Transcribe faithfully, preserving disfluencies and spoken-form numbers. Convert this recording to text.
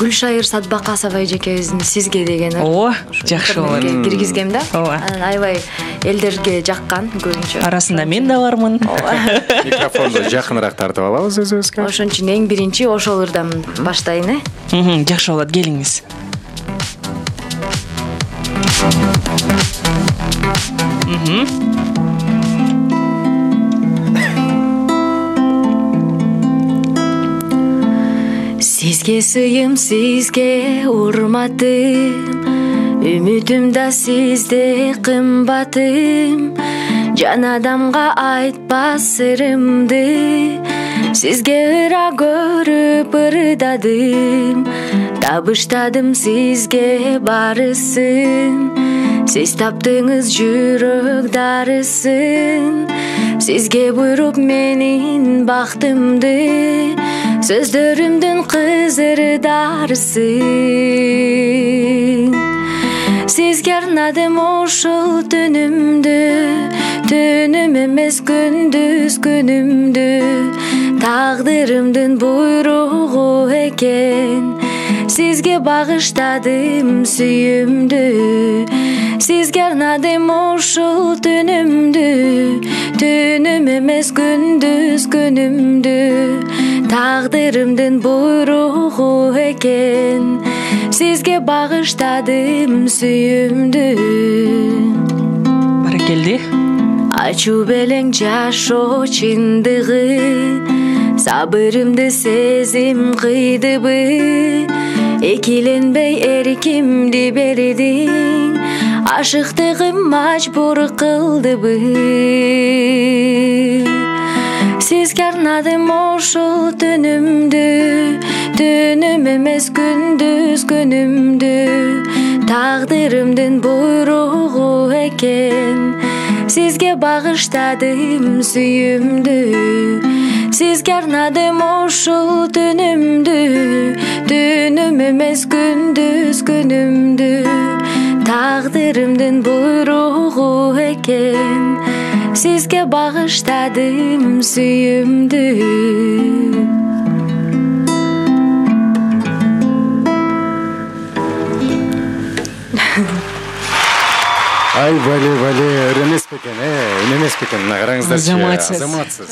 Гүлшайыр Садбакасова эжекебиздин сизге деген ооба, жакшы болот. Киргизгем да. Ооба. Анан аябай элдерге жаккан көбүнчө. Арасында мен да бармын. Микрофонду жакыныраак тартып алабыз өзүбүзгө. Ошон үчүн эң биринчи ошол ырдан баштайын, э? Жакшы болот, келиңиз. Сизге сыйым, сизге урматым, үмүтүм да сизде кымбатым. Жан адамга айтпас сырымды, сизге ыра көрүп ырдадым. Табыштадым сизге барысын, сиз таптыңыз жүрөк дарысын. Сизге буйруп менин бактымды, сөздөрүмдүн кызыр дарысын. Сизге арнадым ошол түнүмдү, түнүм эмес күндүз күнүмдү. Тагдырымдын буйругу экен, сизге багыштадым сүйүмдү. Сизге арнадым ошол түнүмдү, түнүм эмес күндүз күнүмдү. Тагдырымдын буйругу экен, сизге багыштадым сүйүмдү. Баракелди. Ачуу белең жашоо чындыгы, сабырымды сезим кыйдыбы. Экиленбей эркимди бердиң, ашыктыгым мажбур кылдыбы. Сизге арнадым ошол түнүмдү, түнүм эмес күндүз күнүмдү. Тагдырымдын буйругу экен, сизге багыштадым сүйүмдү. Сизге арнадым ошол түнүмдү, түнүм эмес күндүз күнүмдү. Тагдырымдын буйругу экен, сизге багыштадым сүйүмдү. Ай, бали, бали, ыр эмес бекен, э, үн эмес бекен, мына караңыздарчы. Азаматсыз. Азаматсыз.